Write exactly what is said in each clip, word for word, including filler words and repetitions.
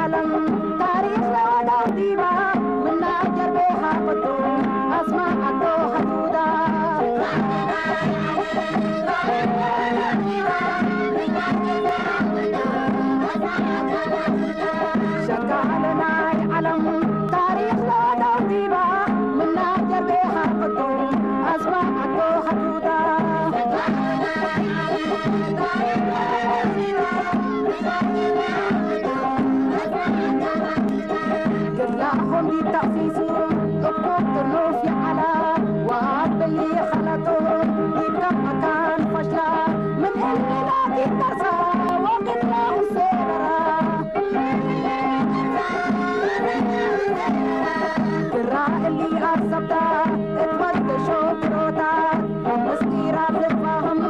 ዐለም ታሪክ ለወደው ዲባ፣ ምና ጀርቤ ሐቅቱ አስማዕ አዶ ሐዱዳ። ሸቃለ ናይ ዐለም ታሪክ ለወደው ዲባ፣ ምና ጀርቤ ሐቅቱ አስማዕ አዶ ሐዱዳ። ክላሆም ዲብ ተእሲሱ እኩብ ጥኑፍ ይዐላ፣ ወአብ እሊ ኸለጦ ዲብ ከም መካን ፈሽላ፣ ምን እሊ ላኪን ተርሳ ወቅድመ ሁሴ በራ። ግራ እሊ አሰብታ እት ወድ ሾክሮታት፣ ምስጢራት ልትፋህም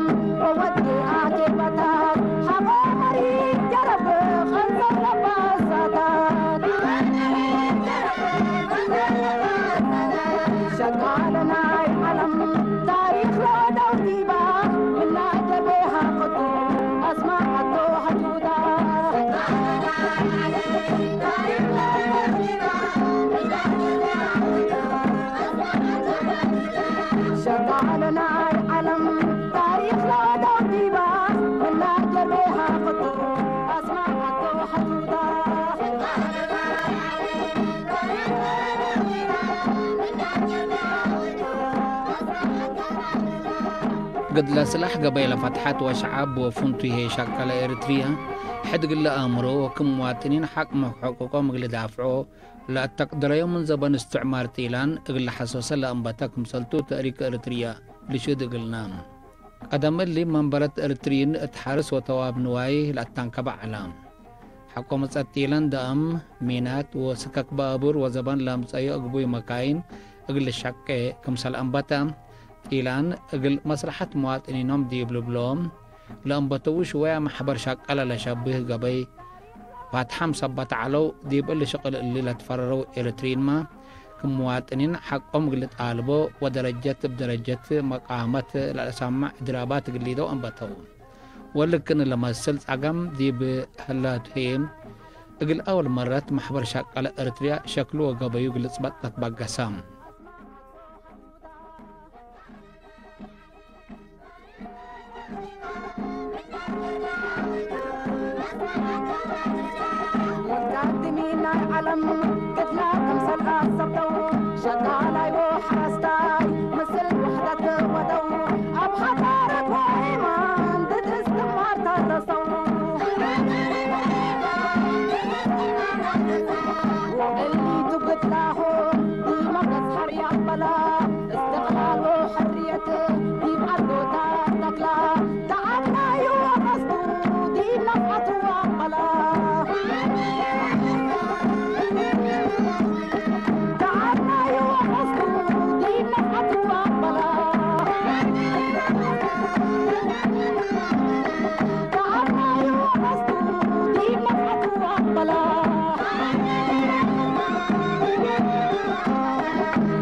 ወወዴ አኬባታት፣ ሐቆ መሪት ጀረብ ኸንዘር ለባሳታት። ሸቃለ ናይ ዐለም ታሪክ ለወደው ዲባ፣ ምና ጀርቤ ሐቅቱ አስማዕ አዶ ሐዱዳ። ሸቃለ ናይ ዐለም ታሪክ ለወደው ዲባ፣ ምና ጀርቤ ሐቅቱ አስማዕ አዶ ሐዱዳ። ግድለ ስላሕ ገበይ ለፈትሐት ወሸዓብ ወፍንቱይ ህዬ ሸቀለ ኤሪትርየ፣ ሕድ እግል ለአምሮ ወክም ሙዋጥኒን ሐቅ ምሕቆቆም እግል ልዳፍዖ ለአተቅድረዮ ምን ዘበን እስትዕማር ጢላን እግል ለሐሶሰ ለአንበተ ክምሰልቱ ተእሪክ ኤሪትርየ ልሽህድ እግልነ። ቀደም እሊ መንበረት ኤሪትርይን እት ሐርስ ወተዋብ ንዋይ ለአተንከበ ዐለ። ሐቆ መጸት ጢላን ደአም፣ ሚናት ወስከክ ባቡር ወዘበን ለአምጸዮ እግቡይ መካይን እግል ልሸቄ ክምሰል አንበተ፣ ጢላን እግል መስለሐት መዋጥኒኖም ዲብ ልብሎም ለአንበተዉ ሽወያ መሕበር ሸቀለ ለሸብህ ገበይ ፋትሐም ሰበት ዐለው። ዲብ እሊ ሽቅል እሊ ለትፈረረው ኤሪትርይንመ፣ ክም መዋጥኒን ሐቆም እግል ልጣልቦ ወደረጀት እብ ደረጀት መቃመት ለለሰምዕ እድራባት እግል ሊደው አንበተው። ወልክን ለመስል ጸገም ዲብ ህላቱ ህዬ፣ እግል አወል መረት መሕበር ሸቀለ ኤሪትርያ ሸክሉ ወገበዩ እግል ልጽበጥ ለትበገሰ። ወልቃቲ ሚ ናይ ዐለም ግድላ ክምሰል አሰብተው፣ ሸቃላይ ወሐረስታይ ምስል ውሕደት ወደው፣ አብ ሐዳረት ወኢማን ድድ እስትማር ተረሰው። ወእሊቱ ግድላሆም ዲመ ገጽሐር ያበላ፣ እስትቅላል ወሕርየት ዲብ ዐዶታት ተክላ፣ ተዓብናዩ ወቀስቱ ዲብ ነፍዐቱ አበላ። ተዓብናዩ ወቀስቱ ዲብ ነፍዐቱ አበላ። ተዓብናዩ ወቀስቱ ዲብ ነፍዐቱ አበላ።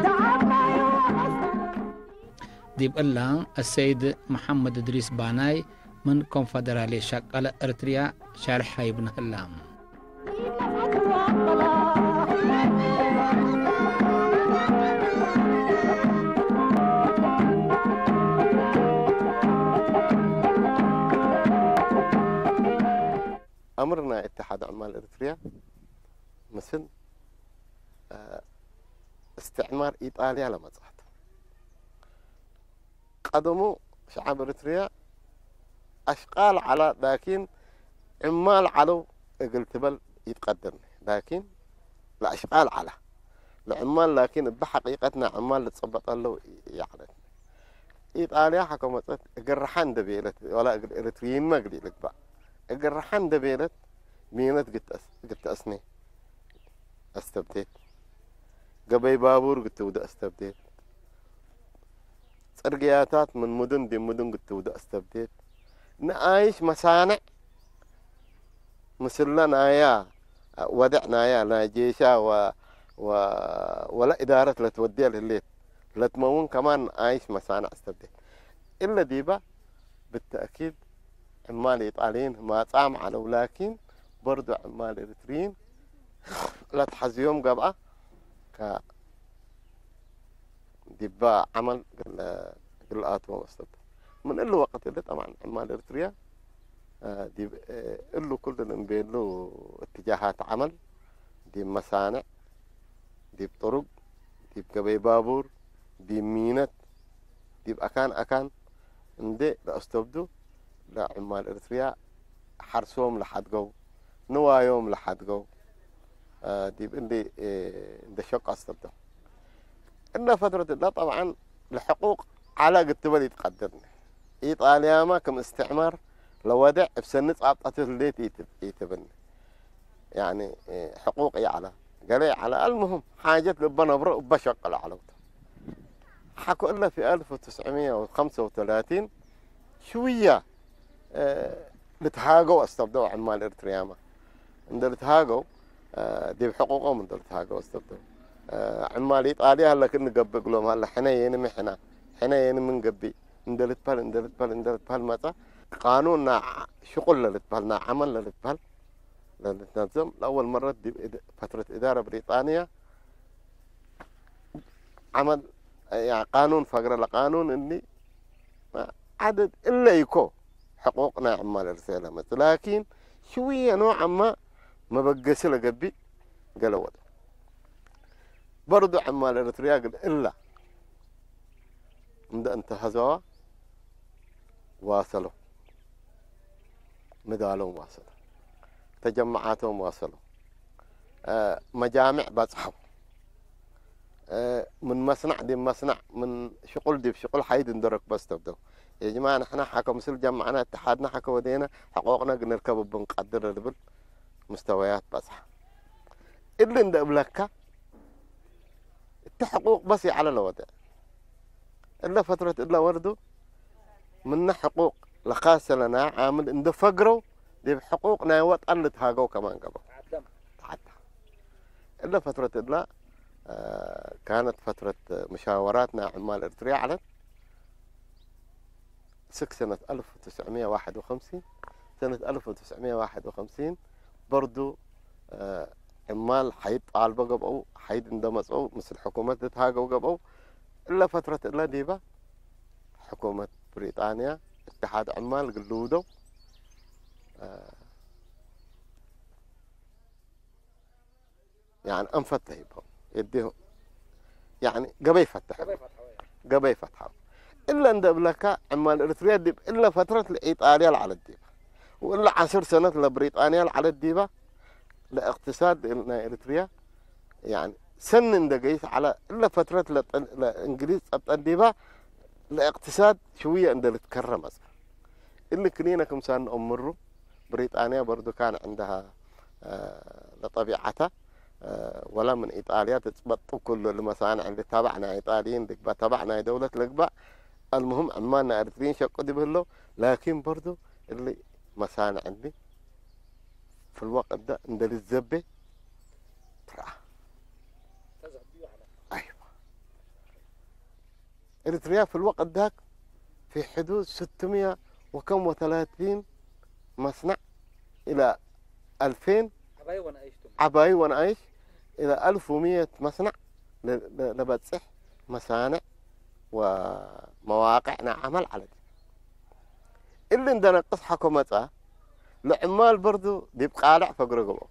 ተዓብናዩ ወቀስቱ ዲብ እላ፣ አሰይድ መሐመድ እድሪስ ባናይ ምን ኮንፈደራልየት ሸቀለ ኤሪትርያ ሸርሕ ሀይብነ ህላ። አምር ናይ እትሓድ ዕማል ኤሪትርያ ምስል፣ አ፣ እስትዕማር ኢጣልያ ለመጽአት። ቀደሙ ሸዐብ ኤሪትርያ አሽቃል ዐለ፣ ላኪን ዕማል ዐለው እግል ትበል ኢትቀድር። ላኪን ለአሽቃል ዐለ። ለዕማል ላኪን እብ ሐቂቀት ናይ ዕማል ልትጸበጠ ለው ይዐለት። ኢጣልያ ሐቆ መጸት እግል ረሐ እንዴ ቤለት፣ ወላ እግል ኤሪትርይንመ እግል ኢልግባእ፣ እግል ረሐ እንዴ ቤለት፣ ሚነት ግድ ተአስ-፣ ግድ ተአስኔ አስተብዴት። ገበይ ባቡር ግድ ትውደ አስተብዴት። ጽርግያታት ምን ሙዱን ዲብ ሙዱን ግድ ትውደ አስተብዴት። ነኣይሽ መሳንዕ ምስለ ናያ ወደዕ ናያ ናይ ጄሻ ወ-፣ ወ-፣ ወለ እዳረት ለትወድየ ለህሌት ለትመውን ከማን ነኣይሽ መሳንዕ አስተብዴት። እለ ዲበ ብተእኪድ ዕማል ኢጣልይን ማጻም ዐለው፣ ላኪን በርዶ ዕማል ኤሪትርይን ለትሐዝዮም ገብአ፣ ከ-፣ ዲበ ዐመል እግል፣ እግል ለአትዎም አስተብደ። ምን እሊ ወቅት እሊ ጠብዐን ዕማል ኤርትርያ፣ እ፣ ዲብ፣ እ፣ እሉ ኩሉ እንቤሉ እትጃሃት ዐመል፣ ዲብ መሳንዕ፣ ዲብ ጥሩግ፣ ዲብ ገበይ ባቡር፣ ዲብ ሚነት፣ ዲብ አካን አካን እንዴ ለአስተብዱ፣ ለዕማል ኤርትርያ ሐርሶም ለሐድገው፣ ንዋዮም ለሐድገው፣ እ፣ ዲብ እንዴ፣ እ፣ እንዴ ሸቁ አስተብደው። እለ ፈትረት እለ ጠብዐን ለሕቁቅ ዐለ እግል ትበል ኢትቀድርኒ። ኢጣልያመ ክም እስትዕማር ለወዴዕ እብ ሰኒ ጻብጠቱ ህሌት ኢት-፣ ኢትብኒ። ያኒ፣ እ፣ ሕቁቅ ይዐለ፣ ገሌ ይዐለ። አልሙህም፣ ሓጀት ልበ ነብሮ እበ ሸቅሎ ዐለው ተ። ሐቆ እለ ፊ አልፍ ወትስዕምየ ወከምሰ ወተላቲን ሽውየ፣ እ፣ ልትሃገው አስተብደው ዕማል ኤርትርያመ። እንደ ልትሃገው፣ እ፣ ዲብ ሕቁቆም እንደ ልትሃገው አስተብደው። እ፣ ዕማል ኢጣልያ ሀለ ክእኒ ገብእ እግሎም ሀለ፣ ሕነ የኒ ሚ ሕነ፣ ሕነ የኒ ምን ገብእ፣ እንደ ልትበህል፣ እንደ ልትበህል፣ እንደ ልትበህል መጸ። ቃኑን ናይ ሽቁል ለልትበህል፣ ናይ ዐመል ለልትበህል፣ ለልትነዘም፣ ለአወል መረት ዲብ እድ-፣ ፈትረት እዳረ ብሪጣንያ ዐመል፣ ያ፣ ቃኑን ፈግረ። ለቃኑን እሊ ዐደድ እለ ኢኮ ሕቁቅ ናይ ዕማል ኤርትርያ ለመጽእ፣ ላኪን ሽውየ ኖዓማ መበገሲ ለገብእ ገሌ ወደ። በርዱ ዕማል ኤርትርያ ግን እለ እንደ እንተሀዘዋ ዋሰለው። ምዳሎም ዋሰለው፣ ተጀመዓቶም ዋሰለው፣ እ፣ መጃምዕ በጽሐው፣ እ፣ ምን መስነዕ ዲብ መስነዕ፣ ምን ሽቁል ዲብ ሽቁል ሐይድ እንዶ ረክበ አስተብደው። የጅማዕ ንሕነ ሐከ ምስል ጀመዕነ፣ እትሓድነ ሐከ ወዴነ፣ ሕቆቅነ እግል ንርከብ እብ እንቀድር ለልብል ምስተወያት በጽሐ። እሊ እንደ እብለከ፣ እተ ሕቁቅ በስ ይዐለ ለወዴዕ። እለ ፈትረት እለ ወርዱ ምነ ሕቁቅ ለካሰ ለናይ ዓምል እንደ ፈግረው፣ ዲብ ሕቁቅ ናይ ወጠን ልትሃገው ከማን ገብአው። ተዓዳ። እለ ፈትረት እለ፣ አ፣ ካነት ፈትረት መሻወራት ናይ ዕማል ኤርትርያ ዐለት። ስክ ሰነት አልፍ ወትስዕምየ ወዋሕድ ወከምሲን፣ ሰነት አልፍ ወትስዕምየ ወዋሕድ ወከምሲን በርዱ፣ እ፣ ዕማል ሐይድ ጣልበ ገብአው፣ ሐይድ እንደ መጽአው ምስል ሕኩመት ልትሃገው ገብአው። እለ ፈትረት እለ ዲበ ሕኩመት ብሪጣንያ እትሓድ ዕማል እግል ልውደው፣ እ፣ ያኒ አንፈተ ሂበው፣ እዴሁ፣ ያኒ ገበይ ፈተሐው፣ ገበይ ፈትሐው፣ ገበይ ፈትሐው። እለ እንደ እብለካ፣ ዕማል ኤርትርያ ዲብ እለ ፈትረት ለኢጣልያ ለዐለት ዲበ፣ ወእለ ዐስር ሰነት ለብሪጣንያ ለዐለት ዲበ፣ ለእቅትሳድ ናይ ኤርትርያ፣ ያኒ ሰኒ እንደ ገይስ ዐለ፣ እለ ፈትረት ለጠ-፣ ለእንግሊዝ ጸብጠት ዲበ፣ ለእቅትሳድ ሽውየ እንደ ልትከረ መጽአ። እሊ ክኒነ ክምሳል ነአምሩ፣ ብሪጣንያ በርዱ ካን ዕንደሃ፣ አ፣ ለጠቢዐተ፣ አ፣ ወላ ምን ኢጣልያ ትጽበጡ ኩሉ ለመሳንዕ እንዲ ተባዕ ናይ ኢጣልይን ልግበእ፣ ተባዕ ናይ ደውለት ልግበእ። አልሙህም ዕማል ናይ ኤሪትርይን ሸቁ ዲብ ህለው፣ ላኪን በርዱ እሊ መሳንዕ እንዲ ፊ ልወቅት ደ እንደ ልዘቤ ትረአ። አይወ። ኤሪትርያ ፊ ልወቅት ዳክ ፊ ሕዱድ ስትምየ ወከም ወተላቲን መስነዕ ኢለ አልፌን ዐባይ ወነአይሽ ቱ። ዐባይ ወነአይሽ ኢለ አልፍ ወምየት መስነዕ ለ-፣ ለ-፣ ለበጽሕ መሳንዕ ወመዋቅዕ ናይ ዐመል ዐለት። እሊ እንደ ነቅስ ሐኮ መጽአ፣ ለዕማል በርዱ ዲብ ቃልዕ ፈግሮ ገብአው።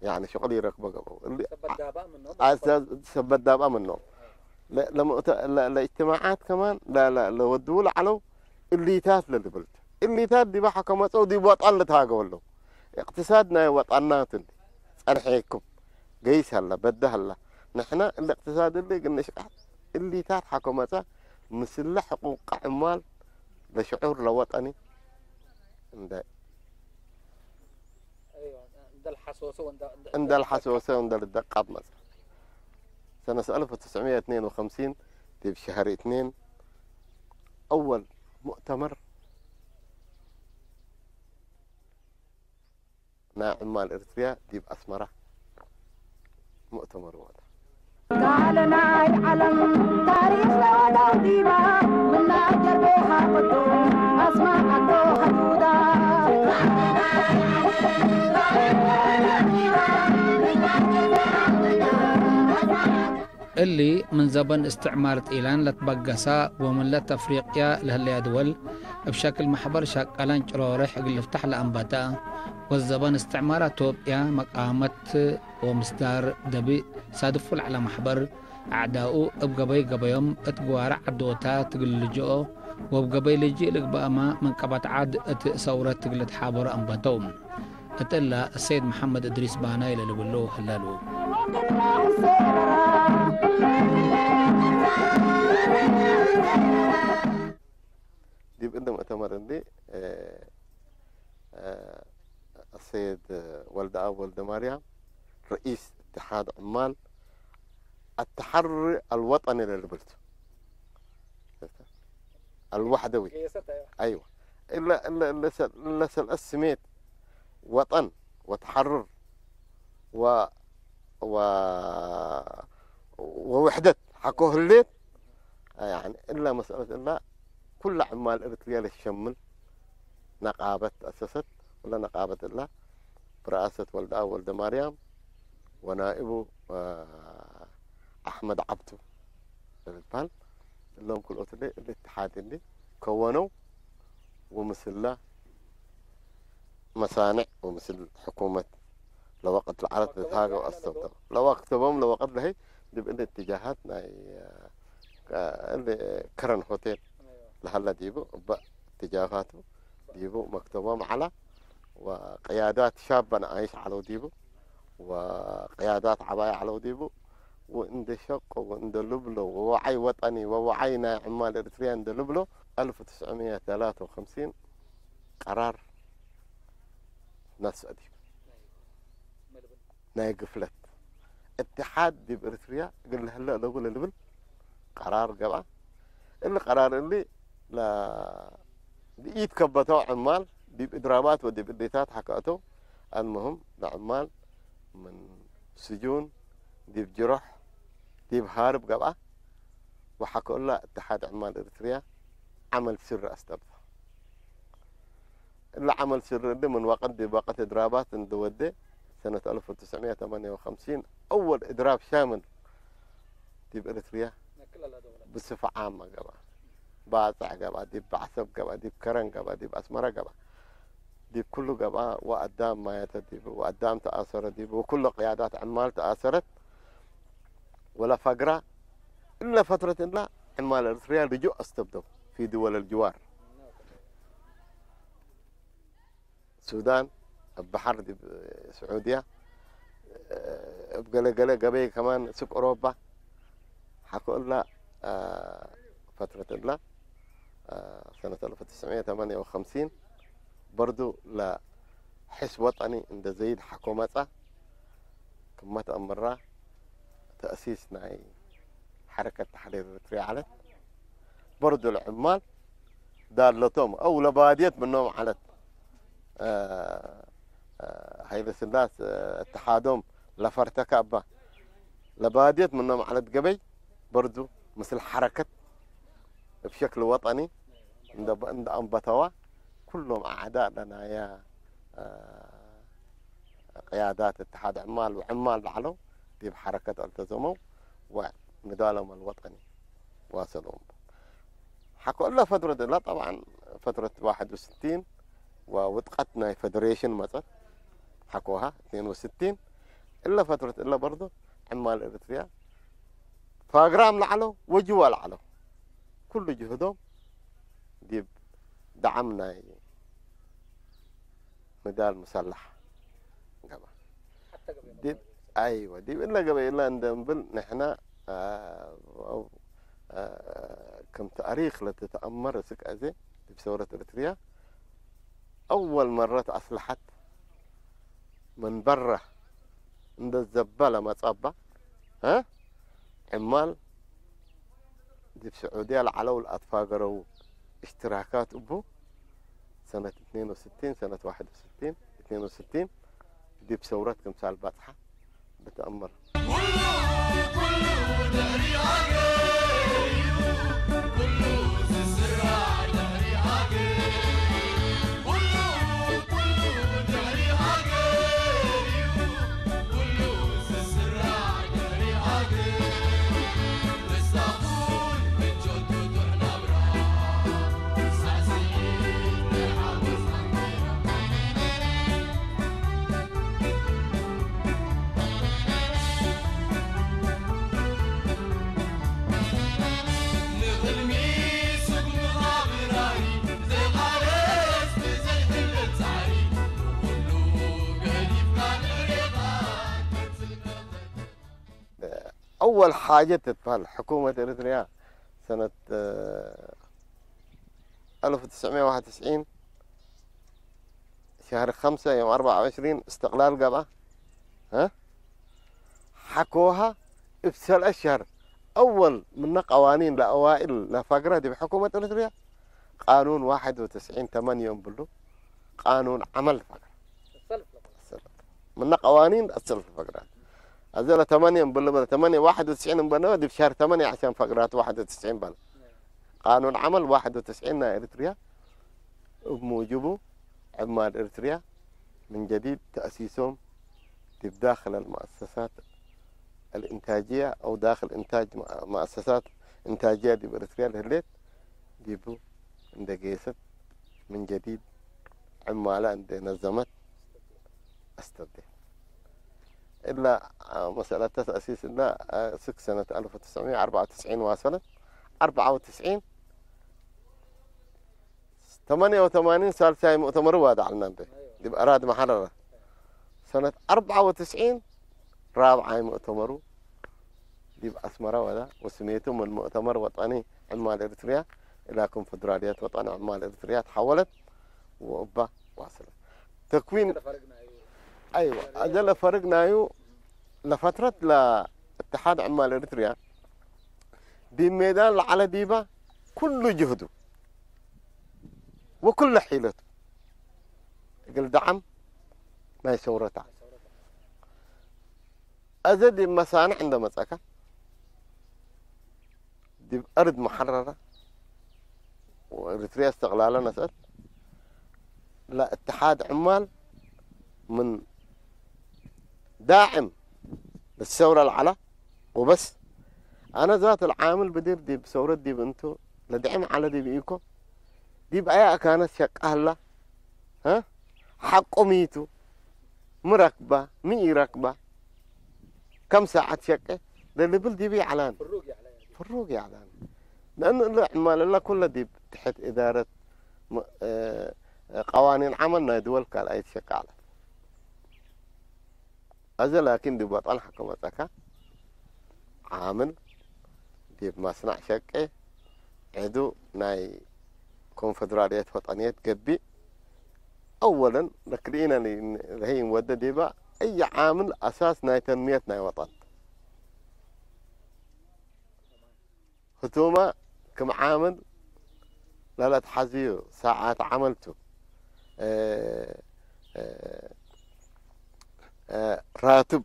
ያኒ ሽቅል ኢረክቦ ገብአው። እሊ ሰበት ዳብአ ምኖም አ-፣ ሰ-፣ ሰበት ዳብአ ምኖም። ለ-፣ ለሙእተ-፣ ለ-፣ ለእጅትማዓት ከማን ለ-፣ ለ-፣ ለወድዉ ለዐለው እሊታት ለልብል ቱ። እሊታት ዲበ ሐከ መጽአው ዲብ ወጠን ልትሃገው ዐለው። እቅትሳድ ናይ ወጠናት እንዲ ጸንሐኩም ገይስ ሀላ፣ በደ ሀላ። ንሕነ እሊ እቅትሳድ እሊ እግል ንሽቃሕ እሊታት ሐከ መጽአ ምስለ ሕቁቅ ዕማል ለሽዑር ለወጠኒ እንደ አይወ፣ እንደ ልሐሶሰ ወእንደ፣ እንደ እንደ ልሐሶሰ ወእንደ ልደቃብ መጽአ። ሰነት አልፍ ወትስዕምየ ወትኔን ወከምሲን ዲብ ሸህር እትኔን አወል ሙእተመር ናይ ዕማል ኤርትርያ ዲብ አስመራ ሙእተመር ወደ። ጋለ ናይ ዐለም ታሪክ ለወዳው ዲባ፣ ምና ጀርቤ ሐቅቱ አስማዕ አቶ ሐዱዳ። እሊ ምን ዘበን እስትዕማር ጢላን ለትበገሳ ወምን ለት አፍሪቅያ ለህለያ ድወል እብ ሸክል መሕበር ሸቀላን ጭሮርሕ እግል ልፍታሕ ለአንበተ፣ ወዘበን እስትዕማር አቶብያ መቃመት ወምስዳር ደቢ ሳድፉ ለዐለ መሕበር፣ አዕዳኡ እብ ገበይ ገበዮም እት ግዋረ ዐዶታት እግል ልጅኦ ወእብ ገበይ ልጅእ ልግበእመ ምን ቀበት ዐድ እት ሰውረት እግል ልትሓበሮ አንበተው። እት እለ፣ ሰይድ መሐመድ እድሪስ ባናይ ለልብሎ ህለሉ። ዲብ እንደ ሙእተመር እንዲ፣ እ፣ እ፣ አሰይድ ወልደአብ ወልደማርያም፣ ረኢስ እትሓድ ዕማል አተሐሪ አልወጠኒ ለልብል ቱ። አልወሕደዊ። ገየሰት፣ አይዋ። አይዋ። እለ፣ እለ፣ እለ ሰል-፣ እለ ሰልአት ስሜት ወጠን ወተሐርር ወ-፣ ወ-፣ ወውሕደት ሐቆ ህሌት፣ ያኒ እለ መስአለት እለ ኩለ ዕማል እርትርየ ለሸምል ነቃበት ተአሰሰት። ወለ ነቃበት እለ ብረአሰት ወልደአብ ወልደማርያም ወናኢቡ፣ አ፣ አሕመድ ዐብዱ ለልትበህል፣ እሎም ክልኦት እሊ እሊ እትሓድ እሊ ከወነው፣ ወምስለ መሳንዕ ወምስል ሕኩመት ለወቅት ለዐለት ልትሃገው አስተብደው። ለወቅት ቦም ለወቅት ለህይ ዲብ እሊ እትጃሃት ናይ፣ አ፣ እሊ ከረን ሆቴል ለሀለ ዲቡ እበ እትጃፋቱ ዲቡ መክተቦም ዐለ። ወቅያዳት ሻበ ነኣይሽ ዐለው ዲቡ፣ ወቅያዳት ዐባይ ዐለው ዲቡ፣ ወእንዴ ሸቆ ወእንዴ ልብሎ፣ ወወዓይ ወጠኒ ወወዓይ ናይ ዕማል ኤሪትርያ እንዴ ልብሎ፣ አልፍ ወትስዕ ሚእት ወተላተ ወኸምሲን ቀራር ነስአ ዲቡ። ናይ ግፍለት እትሓድ ዲብ ኤሪትርያ እግል ለህለ እለቡ ለልብል ቀራር ገብአ። እሊ ቀራር እሊ ለ-፣ ለኢትከበተው ዕማል ዲብ እድራባት ወዲብ እዴታት ሐከአተው። አልምህም ለዕማል ምን ስጁን ዲብ ጅሮሕ ዲብ ሃርብ ገብአ። ወሐከ እለ እትሓድ ዕማል ኤሪትርያ ዐመል ስሪ አስተብተ። እለ ዐመል ስሪ እሊ ምን ወቅት ዲብ ወቅት እድራባት እንዴ ወዴ፣ ሰነት አልፍ ወትስዕ ሚእት ወተማንየ ወኸምሲን አወል እድራብ ሻምል ዲብ ኤሪትርያ ብስፈ ዓመ ገብአ። ባጽዕ ገብአ፣ ዲብ ዐሰብ ገብአ፣ ዲብ ከረን ገብአ፣ ዲብ አስመረ ገብአ፣ ዲብ ኩሉ ገብአ። ወአዳም ማየተ ዲቡ፣ ወአዳም ተአሰረ ዲቡ፣ ወኩሉ ቅያዳት ዕማል ተአሰረት ወለፈግራ። እለ ፈትረት እለ ዕማል ኤሪትርያ ልጁእ አስተብደው ፊ ድወል አልጅዋር። ሱዳን፣ እብ በሐር ዲብ ስዑድያ፣ እብ ገሌ ገሌ ገበይ ከማን ሱቅ ኦሮባ ሐቆ እለ፣ አ፣ ፈትረት እለ፣ አ፣ ሰነት አልፍ ወትስዕ ሚእት ወተማንየ ወኸምሲን በርዱ ለሕስ ወጠኒ እንደ ዘይድ ሐቆ መጸ። ክመ ተአምራ ተእሲስ ናይ ሐረከት ተሕሪር ኤሪትርያ ዐለት። በርዱ ለዕማል ዳለቶም አው ለባድየት ምኖም ዐለት። አ፣ አ፣ ሀይለ ስላስ፣ አ፣ እትሓዶም ለፈርተከ እባ ለባድየት ምኖም ዐለት ገበይ በርዱ ምስል ሐረከት እብ ሸክል ወጠኒ እንደ፣ እንደ አንበተዋ ኩሎም አዕዳእ ለናየ፣ አ፣ ቅያዳት እትሓድ ዕማል ወዕማል ለዐለው ዲብ ሐረከት አልተዘመው ወንዳሎም አልወጠኒ ዋሰሎም። ሐቆ እለ ፈትረት እለ፣ ጠብዓን ፈትረት ዋሕድ ወስቲን ወውድቀት ናይ ፈደሬሽን መጸት ሐቆሃ እትኔን ወስቲን። እለ ፈትረት እለ በርዶ ዕማል ኤሪትርያ ፋግራም ለዐለው ወጅዋ ለዐለው ኩሉ ጅህዶም ዲብ ደዓም ናይ ንዳል ሙሰላሕ ገብአ። ሐተ ገበይ ዲብ፣ መባል። አይወ፣ ዲብ እለ ገበይ እለ እንደ እምብል ንሕነ፣ አ፣ አው፣ አ፣ ክም ተእሪክ ለትተአመር እስክ አዜ ዲብ ሰውረት ኤሪትርያ አወል መረት አስለሐት ምን በረ እንደ ዘበ ለመጸ እባ፣ አ፣ ዕማል ዲብ ስዑድያ ለዐለው ለአትፋገረው እሽትራካት እቡ፣ ሰነት እትኔን ወስቲን፣ ሰነት ዋሕድ ወስቲን፣ እትኔን ወስቲን፣ ዲብ ሰውረት ክምሳል ባጽሐ ብትአመር። ኩሉ፣ ኩሉ ድሕሪ ሃገር እዩ፣ ኩሉ ዝስራዕ ድሕሪ ሃገር። ኩሉ፣ ኩሉ ድሕሪ ሃገር እዩ፣ ኩሉ ዝስራዕ ድሕሪ ሃገር። أول حاجة تتبهل حكومة إريتريا سنة، آه، ألف وتسعمية وواحد وتسعين شهر خمسة يوم أربعة وعشرين استقلال قبع، ها؟ حكوها ابسل أشهر. أول من قوانين لأوائل لفقرة دي بحكومة إريتريا قانون واحد وتسعين ثمانية يوم بلو قانون عمل فقرة. ምነ ቀዋኒን አሰልፍ ፈግራት። አዜ ለተመንየ እምብሉ በለ፣ ተመንየ ዋሕድ ወትስዒን እምበልነ ዲብ ሸህር ተመንየ ዐሻን ፈግራት ዋሕድ ወትስዒን በለ። ቃኑን ዐመል ዋሕድ ወትስዒን ናይ ኤሪትርያ፣ እብ ሙጅቡ ዕማል ኤሪትርያ ምን ጀዲድ ተአሲሶም ዲብ ዳክል አልመአሰሳት አልእንታጅየ አው ዳክል እንታጅ መአሰሳት እንታጅየ ዲብ ኤሪትርያ ለህሌት ዲቡ እንዴ ጌሰት ምን ጀዲድ ዕማለ እንዴ ነዘመት አስተብዴ። እላ መሰለተ ተእሲስ እላ እስክ ሰነት አልፍ ወትስዕምየ ወአርበዕ ወትስዒን ዋሰለት። አርበዕ ወትስዒን፣ ተመንየ ወተማኒን ሳልሳይ ሙእተመሩ ዋድዐልና እንዴ ዲብ አራድ መሐረረ። ሰነት አርበዕ ወትስዒን ራብዓይ ሙእተመሩ ዲብ አስመረ ወደ፣ ወስሜቱ ምን ሙእተመር ወጠኒ ዕማል ኤሪትርያ እላ ኮንፈደራልየት ወጠኒ ዕማል ኤሪትርያ ተሐወለት ወእባ ዋስለት። ተክዊን፣ አይወ፣ አዜ ለፈርግ ናዩ ለፈትረት ለእትሓድ ዕማል ኤሪትርያ ዲብ ሜዳን ለዐለ ዲበ ኩሉ ጅህዱ ወኩለ ሒለቱ እግል ደዓም ናይ ሰውረታ። አዜ ዲብ መሳንዕ እንደ መጸከ፣ ዲብ አርድ መሐረረ ወኤሪትርያ እስትቅላለ ነስአት፣ ለእትሓድ ዕማል ምን ዳዕም ለሰውረ ለዐለ ወበስ። አነ ዛት ለዓምል ብዲር ዲብ ሰውረት ዲብ እንቱ ለድዕም ዐለ ዲብ ኢኮ፣ ዲብ አየ አካነት ሸቀ ህላ፣ ሀ? ሐቆ ሚ ቱ? ሚ ረክባ? ሚ ኢረክባ? ከም ሳዐት ሸቄ ለልብል ዲብ ይዐላን። ፍሩግ ይዐላን። ለእኑ እለ ዕማል እለ ኩለ ዲብ ትሕት እዳረት ም-፣ እ፣ ቀዋኒን ዐመል ናይ ድወል ካልኣይት ሸቄ ዐለት። አዜ ላኪን ዲብ ወጠን ሐቆ መጸካ፣ ዓምል ዲብ መስነዕ ሸቄ፣ ዐዱ ናይ ኮንፈደራልየት ወጠንየት ገብእ፣ አወለን ለክልኢነ ለህይ እንወደ ዲበ፣ አየ ዓምል አሳስ ናይ ተንምየት ናይ ወጠን። ህቱመ ክም ዓምል ለለትሐዝዩ ሳዓት ዐመል ቱ፣ እ፣ እ፣ እ፣ ራትብ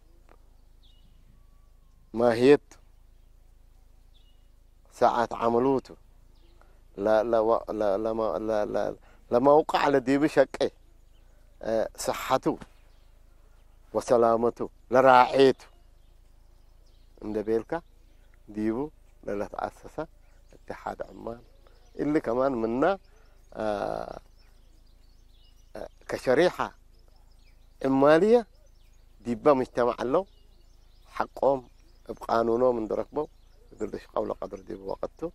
ማህየት ሳዓት ዐመሉ ቱ፣ ለ-፣ ለ-፣ ለ-፣ ለመ-፣ ለ-፣ ለ-፣ ለመውቀዕ ለዲቡ ሸቄ፣ እ፣ ሰሐቱ ወሰላመቱ ለራዔቱ እንዴ ቤልካ፣ ዲቡ ለለትአሰሰ እትሓድ ዕማል፣ እሊ ከማን ምና፣ አ፣ አ፣ ከሸሪሓ ዕማልየ ዲበ ምጅተማዕ ዐለው፣ ሐቆም እብ ቃኑኖም እንዴ ረክበው፣ እግል ልሽቀው ለቀድር ዲብ ወቅት ቱ።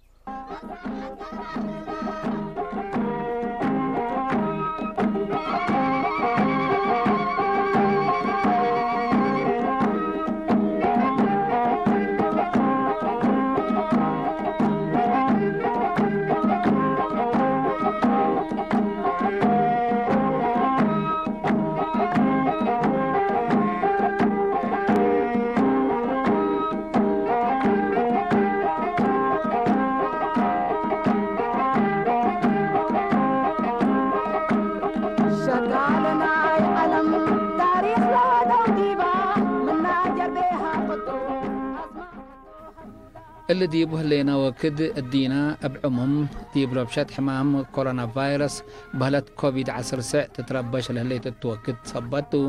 ሸቃለ ናይ ዐለም ታሪክ ለወደው ዲባ፣ ምና ጀርቤሃ ቅጡ አስማ እሊ ዲብ ህሌነ ወክድ እዲነ እብ ዕሙም ዲብ ረብሸት ሕማም ኮሮና ቫይረስ በህለት ኮቪድ ዐስር ስዕ ትትረበሽ ለህሌት እቱ ወክድ ሰበት ቱ።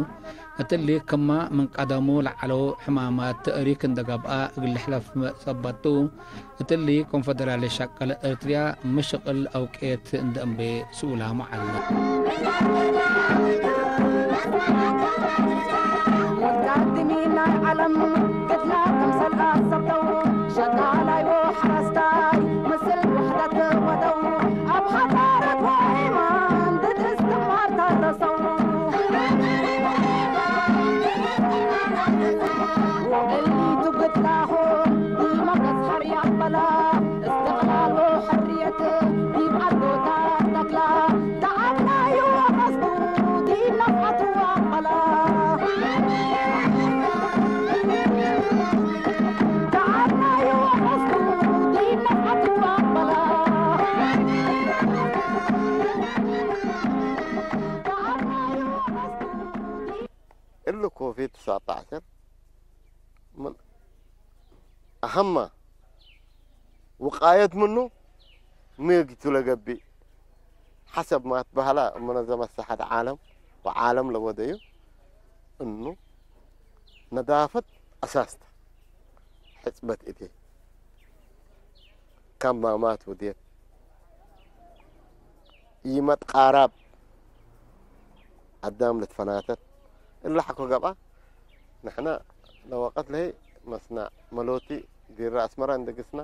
እትሊ ክመ ምን ቀደሙ ለዐለው ሕማማት ተእሪክ እንደ ገብአ እግል ልሕለፍ ሰበት ቱ። እትሊ ኮንፈደራልየት ሸቀለ ኤርትርያ ሚ ሽቅል አውቄት እንደ እምቤ ስኡላሙ ዐለ። ሙትቀድሚን ናይ ዐለም ቅድላ ክምሰል አሰብተው፣ ሸቃላይ ወሐረስታይ ምስል ውሕደት ወደው፣ አብ ሐዳረት ወኢማን ድድ እስትዕማር ተረሰው። ወእሊቱ ግድላሆም ትሰዐተ ዐሸር ምን አሀመ ውቃየት ምኑ ሚ እግቱ ለገብእ፣ ሐሰብ ማ ትበሀላ ሙነዘመት ሰሐት ዓለም ወዓለም ለወደዩ እኑ ነዳፈት አሳስ ተ። ሕጽበት እዴ፣ ከማማት ውዴት፣ ኢመትቃራብ አዳም ልትፈናተት፣ እለ ሐቆ ገብአ። ንሕነ ለወቀት ለህይ መስናዕ መሎቲ ቢራ አስመረ እንዴ ግስነ፣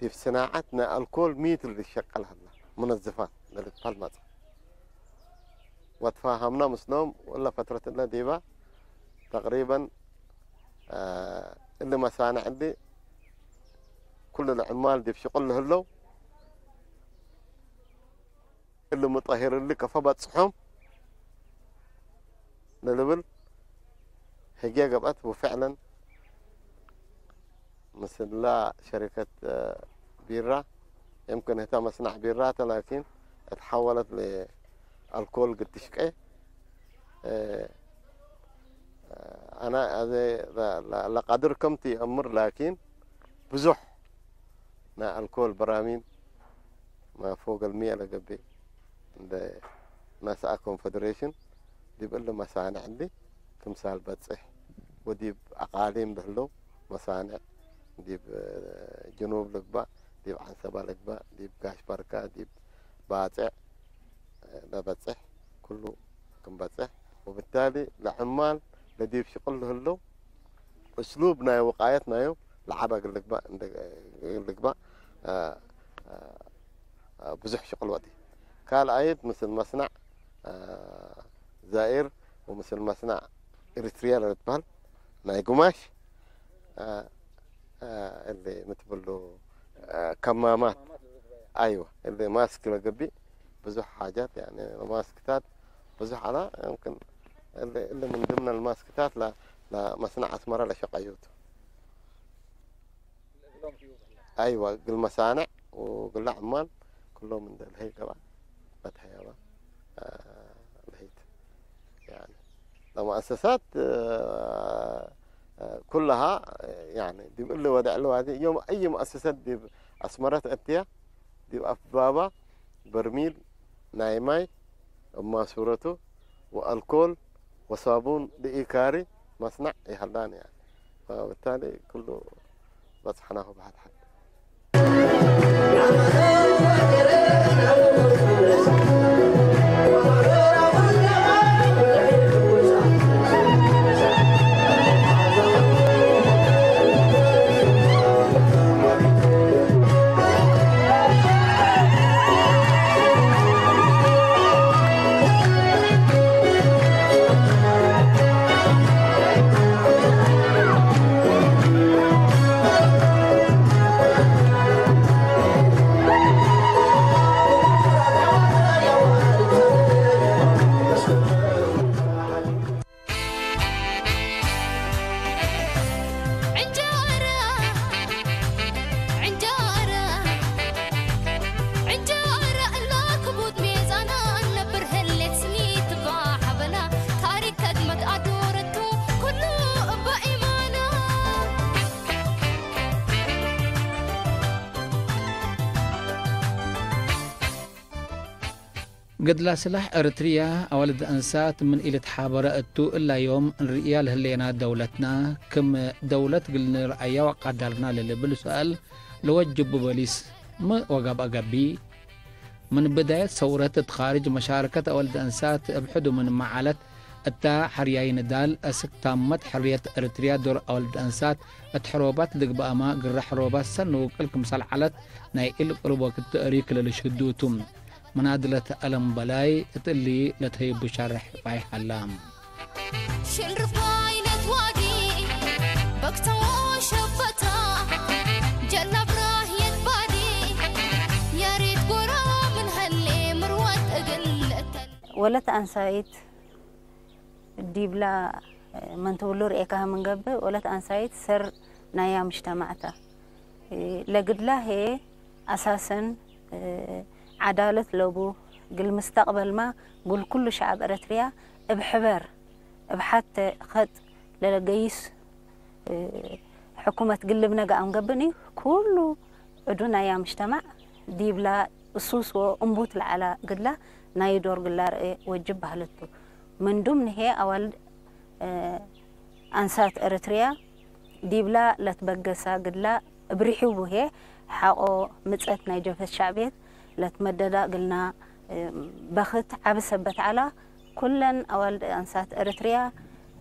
ዲብ ስናዐት ናይ አልኮል ሚ ቱ ልትሸቀል ሀላ፣ ሙነዝፋት ለልትበሀል መጽአ። ወትፋሀምነ ምስሎም፣ ወእለ ፈትረት እለ ዲበ ተቅሪበን፣ አ፣ እሊ መሳንዕ እሊ ኩሉ ለዕማል ዲብ ሽቁል ለህለው፣ እሊ ሙጠሂር እሊ ከፎ በጽሖም ለልብል ህግየ ገብአት። ወፍዕለን ምስላ ሸሪከት ቢራ፣ የምክን ህተ መስናዕ ቢራ ተ፣ ላኪን እትሐወለት ለአልኮል ግድ ትሽቄ። አነ አዜ ለ-፣ ለ-፣ ለቀድር ከምቲ አምር፣ ላኪን ብዙሕ ናይ አልኮል በራሚል ማ ፎቅ አልሚእ ለገብእ እንደ ነስአ ኮንፌዴሬሽን ዲብ እሊ መሳንዕ እሊ ክምሳል በጽሕ ወዲብ አቃሊም ለህለው መሳንዕ ዲብ ጅኑብ ልግባእ፣ ዲብ ዐንሰበ ልግባእ፣ ዲብ ጋሽ በርካ፣ ዲብ ባጽዕ ለበጽሕ ኩሉ ክም በጽሕ፣ ወብታሊ ለዕማል ለዲብ ሽቅል ለህለው እስሉብ ናይ ውቃየት ናዩ ለዐበ እግል ልግባእ እንደ፣ እግል ልግባእ፣ አ፣ አ፣ ብዙሕ ሽቅል ወዲ። ካልኣይት ምስል መስናዕ፣ አ፣ ዛኢር ወምስል መስናዕ ኤሪትሪያ ለልትበህል ናይ ጉማሽ፣ አ፣ አ፣ እሊ ምትብሉ፣ አ፣ ከማማት፣ አይወ፣ እሊ ማስክ ለገብእ ብዙሕ ሓጃት፣ ያኒ ማስክታት ብዙሕ ዐላ። የምክን እሊ፣ እሊ ምን ድምነ ልማስክታት ለ-፣ ለመስናዕ አስመረ ለሸቀዩቱ። አይወ፣ እግል መሳንዕ ወእግለ ዕማል ክሎም እንደ ለሀይ ገብአ በትሀያባ፣ አ፣ ለሀይት። ያኒ ለመአሰሳት፣ አ፣ አ፣ ኩለሃ፣ ያኒ ዲብ እሊ ወደዕ ለዋዜ ዮም አይ መአሰሰት ዲብ አስመረት እትያ፣ ዲብ አፍባባ በርሚል ናይ ማይ እብ ማሱረቱ ወአልኮል ወሳቡን ለኢካሪ መስናዕ ይሀላን፣ ያኒ። ፈብታሊ ክሉ በጽሐናሁ በሐድ ሐድ። ዕንጀረ፣ ዕንጀረ፣ ዕንጀረ እለ ክቡድ ሜዛና፣ ነብር ህሌት ስኒት እባ ሐበና፣ ታሪክ ከድመት አዶረቱ፣ ኩሉ እበ ኢማና። ገድላ ስላሕ ኤረትርያ አዋልድ አንሳት ምን ኢልትሓበረ እቱ፣ እላ ዮም እንርእያ ለህሌና ደውለትና ክም ደውለት እግል ንርአያ ወአቃዳርና ለልብል ሰአል ለወጅቡ በሊስ ሚ ወገብአ ገብእ? ምን ብዳየት ሰውረት እት ካርጅ መሻረከት አዋልድ አንሳት እብ ሕዱ ምንመ ዐለት፣ እታ ሐርያይ ንዳል አስክ ታመት ሕርየት ኤረትርያ ዶር አዋልድ አንሳት እት ሕሮባት ልግበአመ፣ ግረ ሕሮባት ሰኒ ውቅል ክምሰል ዐለት ናይ ኢልቅሩብ ወቅት ተእሪክ ለልሽህዱ ቱ። መናድለት አለም በላይ እት እሊ ለተህይቡ ሸርሕ ፋይሕ ሀላ። ሽል ርፋይነት ዋዲ በክተዎ ሸበታ ጀላብ ራህየት ባዲ ያሬት ጎራ ምን ሀሌ ምርወት እግል እተን ወለት አንሳይት ዲብላ ምን ትብሉ ርኤካህ ምን ገብእ፣ ወለት አንሳይት ሰር ናያ ምጅተማዕ ተ። ለግድላ ህዬ አሳሰን ዐዳለት ለቡ፣ እግል ምስተቅበልማ እግል ኩሉ ሸዐብ ኤረትርያ እብ ሕበር እብ ሐቴ ከጥ ለለገይስ፣ እ፣ ሕኩመት ግልብ ነገ አምገብኒ፣ ኩሉ ዕዱ ናያ ምጅተማዕ ዲብላ እሱስ ወእንቡት ለዐላ ግድላ ናይ ዶር ግላ ርኤ ወጅብ ባህልቱ። ምንዱም ንሄ አዋልድ፣ እ፣ አንሳት ኤረትርያ ዲብላ ለትበገሳ ግድላ እብ ርሒቡ ህዬ ሐቆ ምጸት ናይ ጀብህት ሸዕብየት ለትመደዳ እግልና፣ እ፣ በክት ዐቢ ሰበት ዐላ። ኩለን አዋልድ አንሳት ኤረትርያ፣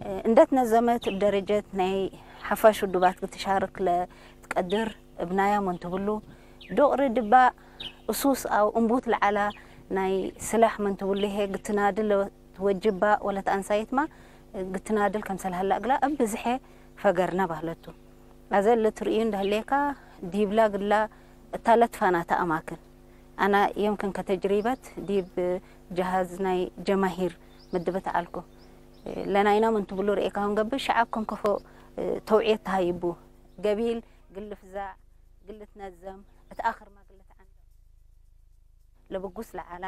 እ፣ እንደ ትነዘመት እብ ደረጀት ናይ ሐፋሽ ውዱባት ክትሻርክ ለትቀድር እብ ናያ ምን ትብሉ፣ ዱቅሪ ድባ እሱስ አው እንቡት ለዐላ ናይ ስላሕ ምን ትብሉ ህዬ ግትናድል ወጅባ ወለት አንሳይትማ ግትናድል ከምሰል ሀላ እግላ እብ ብዝሐ ፈገርነ ባህለቱ። አዘ ለትርእዩ እንደ ህሌካ ዲብላ ግላ እታ ለትፋናተ አማክን። አና የምክን ከተጅሪበት ዲብ ጀሃዝ ናይ ጀማሂር ምድብት ዐልኩ። ለናይና ምን ትብሉ ርኤካሁን ገብእ ሸዐብ ከም ከፎ ተውዕየት ተሃይቡ። ገቢል ግል ፍዛዕ፣ ግል ትነዘም፣ እት አክርመ ግል ተዐንደም። ለብጉስ ለዐላ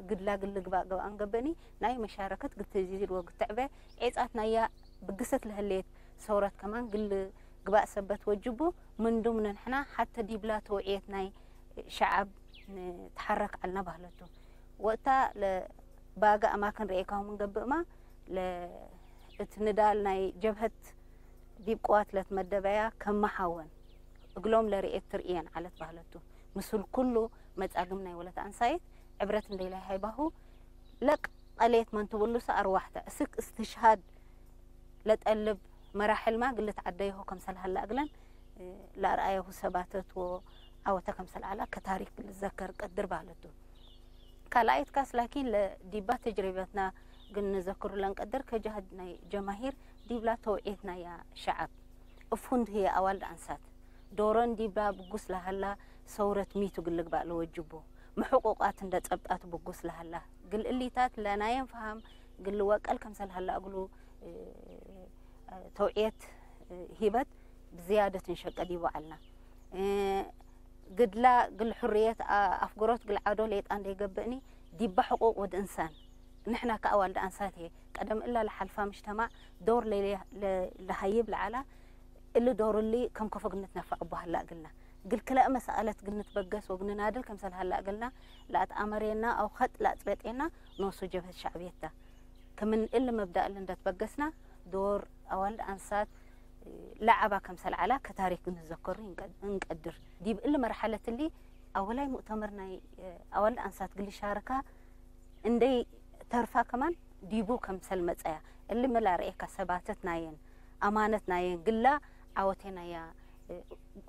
ግድላ ግል ግባእ ገብአን ገብእኒ፣ ናይ መሻረከት ግል ትዚድ ወግል ትዕበ ዔጻት ናያ ብግሰት ለህሌት ሰውረት ከማን ግል ግባእ ሰበት ወጅቡ፣ ምንዱም ንሕና ሐተ ዲብላ ተውዕየት ናይ ሸዐብ ንትሐረክ ዐልነ ባህለቱ። ወእታ ለባገ አማክን ረኤካሁ ምን ገብእማ፣ ለ-፣ እት ንዳል ናይ ጀብሀት ዲብ ቅዋት ለትመደበያ ከመ ሐወን እግሎም ለርኤት ትርእየን ዐለት ባህለቱ። ምስል ኩሉ መጻግም ናይ ወለት አንሳይት ዕብረት እንዴ ለሀይባሁ ለቀሌት መን ትብሉሰ አርዋሕተ እስክ እስትሽሃድ ለጠልብ መራሕልማ ግል ልትዐደዮሆ ከምሰል ሀለ እግለን ለአርአየሁ ሰባተት ወዐወተ ከምሰል ዐላ ከታሪክ ልዘከር ቀድር ባህለቱ። ካልኣይት ካስ ላኪን ለዲባ ተጅሪበትና ግን ንዘክሩ ለንቀድር ከጀህድ ናይ ጀማሂር ዲብላ ተውዕየት ናያ ሸዐብ እብ ፍንቱ ህዬ አዋልድ አንሳት ዶረን ዲብላ ብጉስ ለሀላ ሰውረት ሚ ቱ ግል ልግባእ ለወጅቡ፣ ሚ ሕቁቃት እንደ ጸብጣቱ ብጉስ ለሀላ፣ ግል እሊታት ለናየን ፈሀም ግል ልወቀል ከምሰል ሀላ እግሉ፣ እ፣ ተውዕየት፣ እ፣ ሂበት ብዝያደት እንሸቀ ዲቡ ዐልና። እ፣ ግድላ ግል ሕርየት አ-፣ አፍግሮት ግል ዐዶ ሌጣ እንዴ ገብእኒ ዲባ ሕቁቅ ወድ እንሳን ንሕና ከአዋልድ አንሳት ህዬ ቀደም እላ ለሐልፋ ምጅተማዕ ዶር ለይለ-፣ ለ-፣ ለሀይብ ለዐላ እሊ ዶር እሊ ከም ከፎ ግንትነፈዕ እቡ ሀላ እግልና። እግል ክልኤ መሰአለት ግንትበገስ ወግንናድል ከምሰል ሀላ እግልና ለአትአመሬና አው ኸጥ ለአጽበጤና ኖሱ ጀብህት ሸዕብየት ተ። ክምን እሊ መብዳእ እሊ እንደ ትበገስና ዶር አዋልድ አንሳት ለዐባ ከምሰል ዐላ ከታሪክ ግንትዘከሩ እንቀ-፣ እንቀድር። ዲብ እሊ መርሐለት እሊ አወላይ ሙእተመር ናይ አዋልድ አንሳት እግል ልሻርካ እንዴ ተርፋ ከማን ዲቡ ከምሰል መጸያ። እሊ ሚ ለአርኤካ ሰባተት ናየን፣ አማነት ናየን፣ ግላ ዐወቴ ናያ፣ እ፣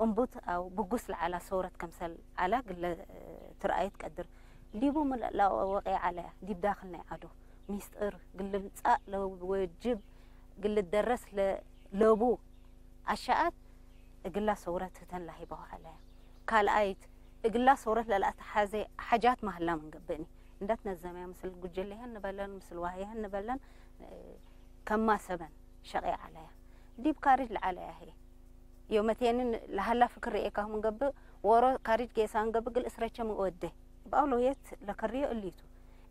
እንቡት አው ብጉስ ለዐላ ሰውረት ከምሰል ዐላ ግለ፣ እ፣ ትርአዩ ትቀድር። ዲቡ ሚ ለአወቄ ዐለያ፣ ዲብ ዳክል ናይ ዐዶ ሚስጥር ግል ልምጻእ ለወጅብ፣ ግል ልደረስ ለ-፣ ለቡ አሸአት እግላ ሰውረት ህተን ለሀይበሁ ዐለያ። ካልኣይት፣ እግላ ሰውረት ለለአትሐዜ ሐጃት ማህላ ምን ገብእኒ። እንደ ትነዘመያ ምስል ጉጅሌሀን ንበለን፣ ምስል ዋህየሀን ንበለን፣ እ፣ ከማሰበን ሸቄ ዐለያ። ዲብ ካርጅ ለዐለያ ህዬ፣ ዮመቴንን ለሀላ ፍክር ረኤካሁ ምን ገብእ፣ ዎሮ ካርጅ ጌሳን ገብእ እግል እስረቸ ምን ወዴ። እብ አውለውየት ለከርዮ እሊቱ።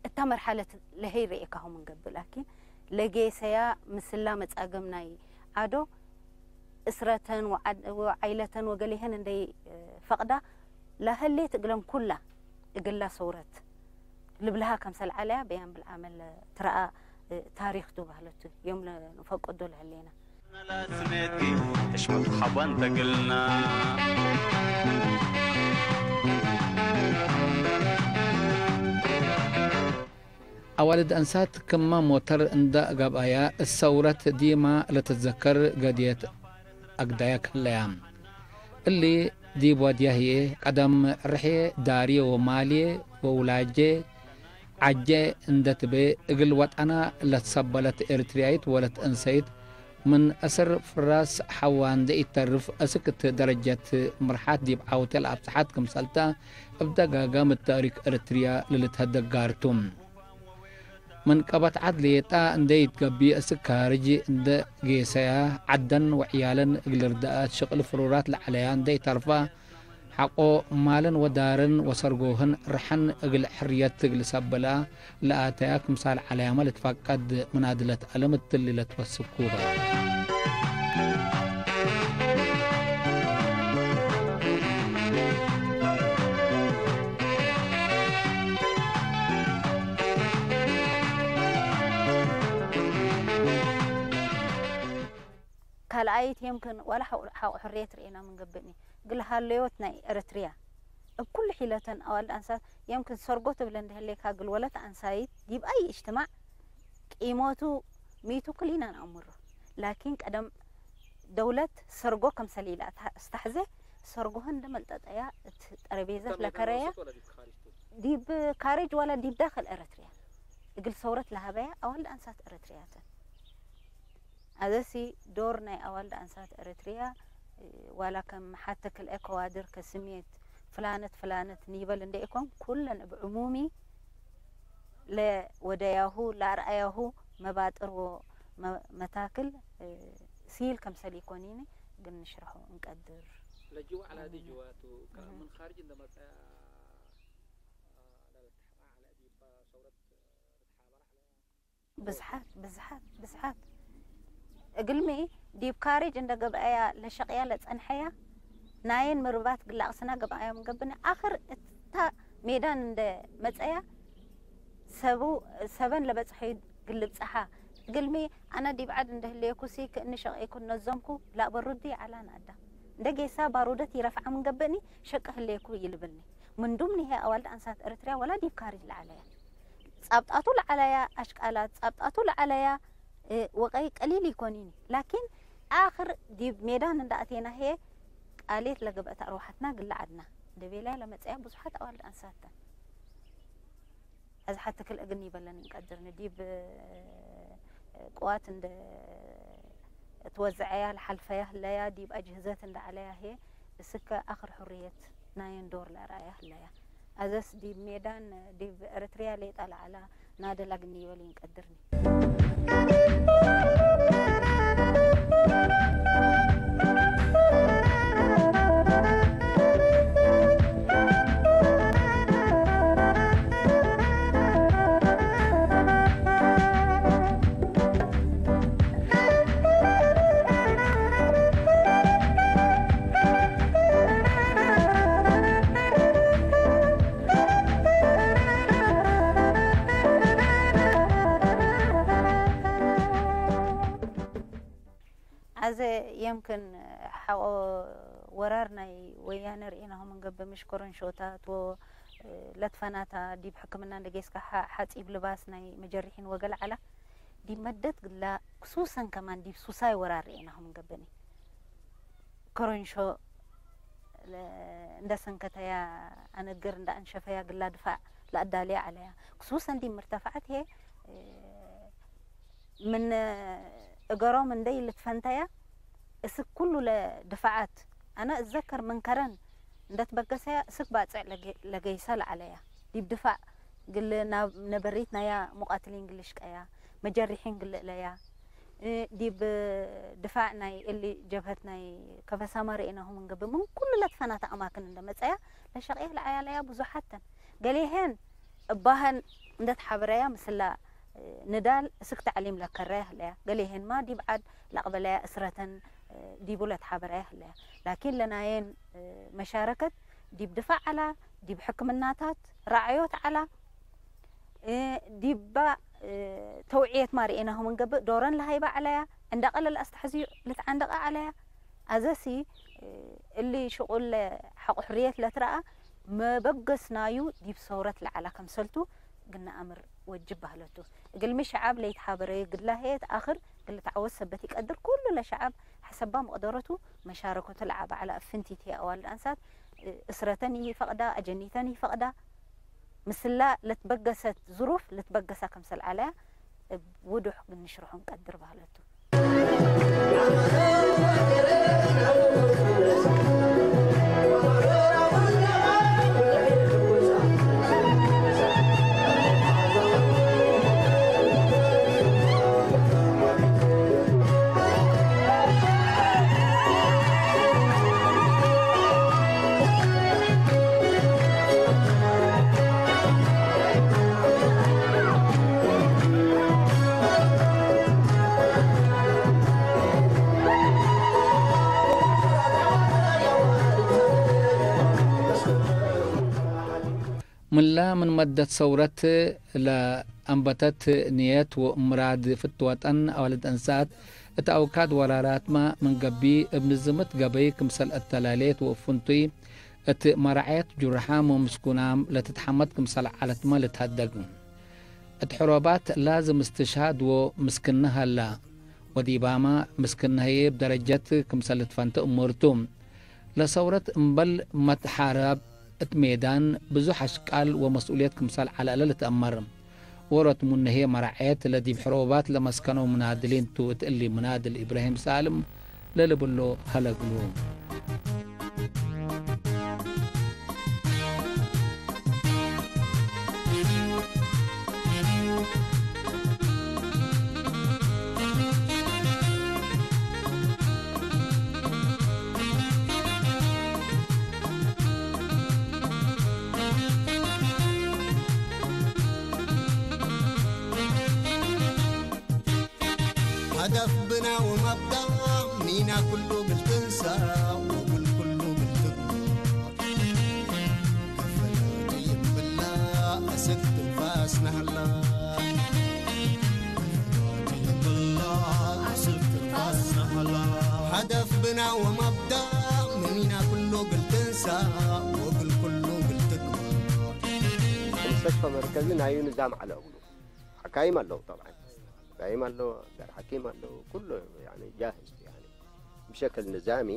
እታ መርሐለት ለሀይ ረኤካሁ ምን ገብእ፣ ላኪን ለጌሰያ ምስላ መጻግም ናይ ዐዶ እስረተን ወዐድ-፣ ወዐይለተን ወገሌሀን እንዴ ፈቅዳ ለሀሌት እግለን ኩላ እግላ ሰውረት ልብልሃ ከምሰል ዐለያ በያን ብልዓመል ትረአ ታሪክ ቱ ባህለቱ ዮም ለንፈቅዶ ለህሌና። ላስሜቲ ሕሽመት ሐባን ተግልና። አዋልድ አንሳት ክመ ሞተር እንደ ገብአያ፣ እት ሰውረት ዲማ ለትትዘከር ገድየት አግዳያ ክህለያ። እሊ ዲብ ወድያ ህዬ፣ ቀደም ርሕዬ ዳርዬ ወማልዬ ወውላጄ ዐጄ እንደ ትቤ፣ እግል ወጠና ለትሰበለት ኤሪትርያይት ወለት እንሰይት፣ ምን እስር ፍራስ ሐዋ እንደ ኢተርፍ፣ እስክ እት ደረጀት ምርሓት ዲብ ዐውቴ ለአብጽሐት ክምሰልተ፣ እብ ደጋጋም እት ታሪክ ኤሪትርያ ለልትሀደግ ጋር ቱ። ምን ቀበት ዐድ ሌጣ እንዴ ኢትገብእ፣ እስክ ካርጅ እንዴ ጌሰያ፣ ዐደን ወዕያለን እግል ርዳአት ሽቅል ፍሩራት ለዐለያ እንዴ ኢተርፋ፣ ሐቆ ማልን ወዳርን ወሰርጎህን ርሐን እግል ሕርየት እግል ሰበላ ለአተያ ክምሳል ዐለያመ ልትፈቀድ ምናድለት ዐለም እትሊ ለትወስኩ በ። ካልኣይት የምክን ወለ ሐቆ፣ ሐቆ ሕርየት ርኤና ምን ገብእኒ፣ እግል ሀለዮት ናይ ኤረትርያ እብ ኩሉ ሒለተን አዋልድ አንሳት የምክን ሰርጎ ትብል እንዴ ህሌካ እግል ወለት አንሳይት ዲብ አይ እጅትማዕ ቂሞቱ ሚቱ ክሊና ነአምሮ። ላኪን ቀደም ደውለት ሰርጎ ከምሰል ኢለአስተሐዜ ሰርጎሀ እንዴ መልጠጠያ እት ጠረቤዘት ለከረያ ዲብ ካርጅ ወለ ዲብ ዳክል ኤረትርያ እግል ሰውረት ለሀበያ አዋልድ አንሳት ኤረትርያተን። አዘሲ ዶር ናይ አዋልድ አንሳት ኤረትርያ፣ ዋላ ከም ሐተ ክልኤ ከዋድር ከስሜት ፍላነት ፍላነት ኒበል እንዴ ኢኮን፣ ኩለን እብ ዕሙሚ ለወደያሁ ለአርአያሁ መባጥር ወመ-፣ መታክል ሲል ከምሰል ኢኮኒኒ ግን ንሽረሑ እንቀድር። ለጅወ ዐላዲ ጅዋቱ ከ-፣ እህ። ምን ካርጅ እንደ መጽአ ለልትሐ ዐለ ዲባ ሰውረት ልትሓበር ዐለ። ብዝሓት፣ ብዝሓት፣ ብዝሓት። እግልሚ ዲብ ካርጅ እንደ ገብአያ ለሸቅያ ለጸንሐያ፣ ናይን ምርባት ግላቅስና ገብአያ ምን ገብነ፣ አክር እታ ሜዳን እንደ መጸያ፣ ሰቡ፣ ሰበን ለበጽሐዩ ግልብጸሓ። እግልሚ፣ አነ ዲብ ዐድ እንደ ህሌኩሲ ክእኒ ሸቅየኩ ነዞምኩ፣ ላእ በሩዲ ዐላ ነአዳ። እንደ ጌሳ ባሩደት ይረፍዐ ምን ገብእኒ፣ ሸቅ ህሌኩ ይልብልኒ። ምንዱም ንሄ አዋልድ አንሳት ኤረትርያ ወላ ዲብ ካርጅ ለዐለያ። ጻብጣቱ ለዐለያ አሽቃላት፣ ጻብጣቱ ለዐለያ፣ እ፣ ወቀይ ቀሊል ኢኮኒኒ። ላኪን፣ አክር ዲብ ሜዳን እንደ አቴና ህዬ፣ ቃሌት ለገብአት አርዋሐትና ግለ ዐድና። እንደ ቤላይ ለመጽአያ ብዙሓት አዋልድ አንሳት ተን። አዚ ሐቲ ክልኤ እግል ኒበለን እንቀድርኒ። ዲብ ቅዋት እንደ ትወዘዐያ ለሐልፈያ ህለያ፣ ዲብ አጅህዘት እንደ ዐለያ ህዬ፣ እስከ አክር ሕርየት ናየን ዶር ለአርአያ ህለያ። አዘስ ዲብ ሜዳን ዲብ ኤረትርያ ሌጠ ለዐላ ናደል እግል ኒበል እንቀድርኒ። አዜ የምክን ሐቆ ወራር ናይ ወያነ ርኤናሁ ምን ገብእ፣ ምሽ ኮረንሾታት ወ ለትፈናታ ዲብ ሕክምና እንደ ጌስካ ሐ-፣ ሐጺብ ልባስ ናይ መጀርሒን ወገል ዐላ። ዲብ መደት ግላ ክሱሰን ከማን ዲብ ሱሳይ ወራር ርኤናሁ ምን ገብእኒ። ኮረንሾ ለ-፣ እንደ ሰንከተያ አነግር እንደ አንሸፈያ ግላ ድፋዕ ለአዳልያ ዐለያ። ክሱሰን ዲብ ምርተፈዐት ህዬ ምን እገሮም እንደ ኢልትፈንተያ፣ እስክ ኩሉ ለድፋዓት፣ አነ እዘከር ምን ከረን እንደ ትበገሰያ፣ እስክ ባጽዕ ለገ-፣ ለገይሰ ለዐለያ። ዲብ ድፋዕ ግል ናብ ነበሪት ናያ ሙቃትሊን ግል ሽቀያ፣ መጀሪሒን ግል እለያ። እ፣ ዲብ ድፋዕ ናይ እሊ ጀብሀት ናይ ከፈሳማ ርኤናሁ ምን ገብእ፣ ምን ኩሉ ለትፈናተ አማክን እንደ መጸያ፣ ለሸቅየ ለዐለያ ብዙሓት ተን። ገሌሄን እባህን እንደ ተሓበረያ ምስላ፣ እ፣ ንዳል እስክ ተዕሊም ለከረያ ህለያ። ገሌሄንማ ዲብ ዐድ ለአቅበለያ እስረተን፣ እ፣ ዲቡ ለተሓበረያ ህለያ። ላኪን ለናየን፣ እ፣ መሻረከት ዲብ ድፋዕ ዐላ፣ ዲብ ሕክምናታት፣ ራዕዮት ዐላ፣ እ፣ ዲባ፣ እ፣ ተውዕየት ማ ርኤናሁ ምን ገብእ፣ ዶረን ለሀይበ ዐለያ፣ እንደ ቀለል አስተሐዝዩ ልትዓንደቀ ዐለያ። አዘሲ፣ እ፣ እሊ ሽቁል ሐቆ ሕርየት ለትረአ መበገስ ናዩ ዲብ ሰውረት ለዐላ ከምሰልቱ ግነ አምር ወጅብ በህለቱ። እግልሚ ሸዐብ ለይትሓበረዩ ግላ ህዬ ተአክር እግል ልትዓወት ሰበት ኢቀድር፣ ኩሉ ለሸዐብ ሐሰባ መቅደረቱ መሻረከቱ ለዐበ ዐለ። እብ ፍንቲት ህዬ አዋልድ አንሳት፣ እ፣ እስረተን ኢፈቅዳ፣ አጀኒተን ኢፈቅዳ፣ ምስላ ለትበገሰት ዝሩፍ ልትበገሳ ከምሰል ዐለያ እብ ውዱሕ እግል ንሽርሖ እንቀድር በህለቱ። ምን መደት ሰውረት ለአንበተት ንየት ወምራድ ፍትወጠን አዋልድ እንሳት እት አውካድ ወራራትመ ምን ገብእ እብ ንዝምት ገበይ ክምሰል አተላሌት ወእብ ፍንቱይ እት መራዐየት ጁርሓም ወምስኩናም ለትትሐመድ ክምሰል ዐለትመ ልትሀደግ። እት ሕሮባት ላዝም እስትሽሃድ ወምስክነ ሀላ። ወዲባመ ምስክነ ህዬ እብ ደረጀት ክምሰል ልትፈንተ እሙር ቱ። ለሰውረት እምበል መትሓረብ እት ሜዳን ብዙሕ አሽቃል ወመስኡልየት ክምሰል ዐለ እለ ልትአመር። ዎሮት ምኑ ህዬ መራዐየት ለዲብ ሕሮባት ለመስከነው ምናድሊን ቱ። እት እሊ ምናድል ኢብራሂም ሳልም ለልብሎ ሀለ እግሉ። ሀደፍ ብና ወመብዳእ ሚና ኩሉ እግል ትንሳእ ወእግል ኩሉ እግል ትግባእ። ከፈናቱ ይብላ አስክ ትንፋስና ሀላ። ከፈናቱ ይብላ አስክ ትንፋስና ሀላ። ሀደፍ ብና ወመብዳእ ሚና ኩሉ እግል ትንሳእ ወእግል ኩሉ እግል ትግባእ። ሙስተሽፈ መርከዚ ናዩ ንዛም ዐለ እግሉ። ሐካይም አለው ጠብዓን። ዳይም አለው፣ አጋር ሐኪም አለው፣ ኩሉ ያኒ ጃህዝ ያኒ ብሸክል ንዛሚ።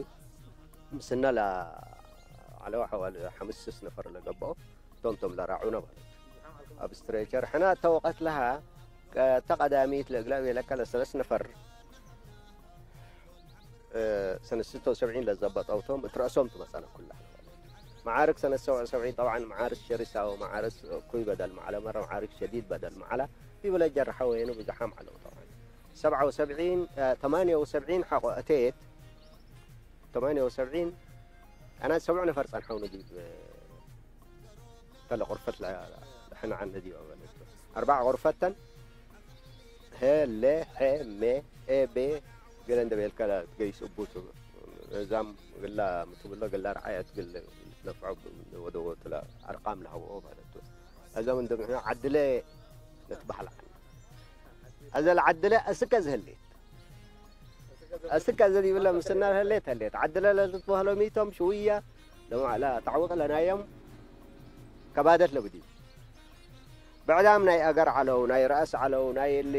ምስና ለዐለው ሐዋል ሐምስ ስስ ነፈር ለገብአው ቶም ቶም ለራዑነ ማለት። አብ ስትሬቸር ሕና እተ ወቀት ለሃ ቀ-፣ እተ ቀዳሚት ለእግላ ቤለከ ለሰለስ ነፈር እ፣ ሰነት ስተ ወሰብዒን ለዘበጠው ቶም እት ረአሶም ትመጸነ ኩለ። መዓርክ ሰነት ሰብዐ ወሰብዒን ጠብዓን መዓርክ ሸሪሳ ወመዓርክ እኩይ በደል መዓለ መረ መዓርክ ሸዲድ በደል መዓለ ዲብለ ጀርሐ ወይኑ ብዝሓም ዐለው ጠብዓን። ሰብዐ ወሰብዒን፣ እ፣ ተማንየ ወሰብዒን ሐቆ እቴት፣ ተማንየ ወሰብዒን አና ሰብዑ ነፈር ጸንሐውኒ ዲብ፣ እ፣ እተ ለቁርፈት ለ-፣ ለሕነ ዐነ ዲበ በለት። አርበዕ ቁርፈት ተን፣ ሄ፣ ሌ፣ ሐ፣ ሜ፣ ኤ፣ ቤ፣ ገሌ እንደ ቤልከ ለትገይስ እቡ ቱ። እዛም ግላ ምትብሎ ግላ ረዓየት ግል ልትነፍዖ ወደወቱ ለአርቃም ለሀብኦ በለት። እዛም እንደ ምሕነ ዐድለ ንትበህል ዐለ። አዘ ለዐድለ እስከ ዝህሌት። እስከ እዘ ዲብለ ምስና ለህሌት ህሌት። ዐድለ ለልትበህሎ ሚቶም ሽውየ ለማ-፣ ለተዕውቅ ለናየም ከባደት ለብዲ። ብዕዳም ናይ አገር ዐለው፣ ናይ ረአስ ዐለው፣ ናይ እሊ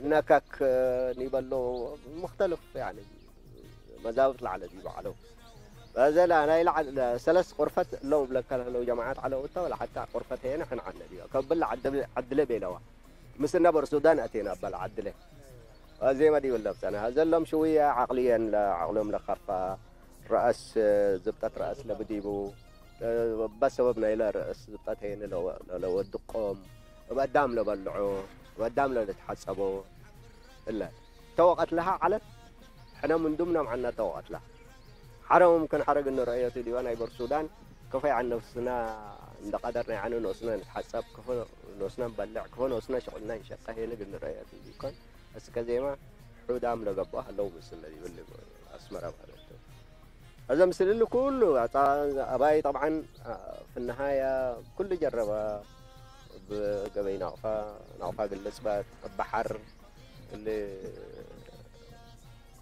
ነከክ ኒበሎ ሙክተልፍ ያኒ መዛብጥ ለዐለ ዲቡ ዐለው። በዘ ለናይ ለዐ-፣ ሰለስ ቁርፈት እሎም እብለከ ለህለው ጀማዐት ዐለው እተ ወለሐታ ቁርፈት ሄነ ሕን ዐነ ዲበ። ከብል ለዐድለ ቤለዋ። ምስል ነበር ሱዳን አቴና በል ዐድለ። አዜመ ዲብ ለብጠነ። ሀዘሎም ሽውየ ዐቅልየን ለዐቅሎም ለከፋ፣ ረአስ፣ ዝብጠት ረአስ ለብዲቡ፣ በሰበብ ናይለ ረአስ ዝብጠት ሄነ ለወ-፣ ለወድቆም፣ እብ አዳም ለበልዖ፣ እብ አዳም ለልትሐጸቦ እለ። እተ ወቀት ለሀ ዐለት፣ ሕነ ምን ዱምነ ምዐና እተ ወቀት ለሀ። ሐረ ሙምክን ሐረ እግል ንርአዮ ቱ ዲበ ናይ በርሱዳን፣ ክፈ ዐን ኖስና እንደ ቀደርነ፣ ያኒ ኖስነ ንትሐጸብ፣ ክፈ ኖስነ ንበልዕ፣ ክፈ ኖስነ ሽቁልነ እንሸቀ ሄን እግል ንርአዮ ቱ ዲኮን። እስከ ዜመ ሑዳም ለገብአ ሀለው ምስል ለዲብል አስመረ ማለት ቱ። አዘ ምስል እሊ ኩሉ አጻ-፣ አባይ ጠብዓን፣ አ፣ ፍነሃያ ኩሉ ጀረበ። እብ ገበይ ናቅፋ፣ ናቅፋ እግል ልጽበት፣ እብ በሐር፣ እሊ፣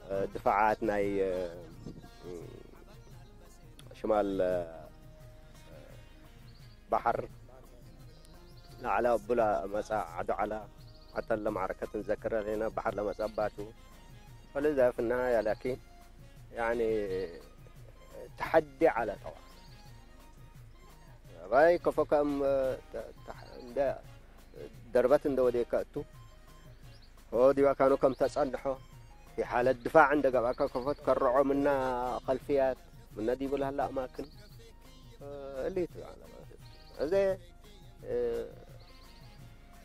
እ፣ ድፋዓት ናይ፣ እ፣ ሽማል፣ እ፣ በሐር ለዐለ እቡ ለመጽአ ዐዱ ዐለ። ሐተ ለመዕረከት እንዘክረ ህሌነ በሐር ለመጽአ ባቱ። ፈለዛ ፍነሃያ ላኪን ያኒ ተሐዲ ዐለ ጠዋ። አባይ ከፎ ከም ተ-፣ ተ-፣ እንደ ደርበት እንደ ወዴከ እቱ፣ ሆ ዲብ አካኑ ከም ተጸንሖ፣ ፊ ሓለት ድፋዕ እንደ ገብአከ ከፎ ትከርዖ ምነ ከልፍያት፣ ምነ ዲቡ ለህለ አማክን፣ እሊቱ ዐለ ማለት። አዜ፣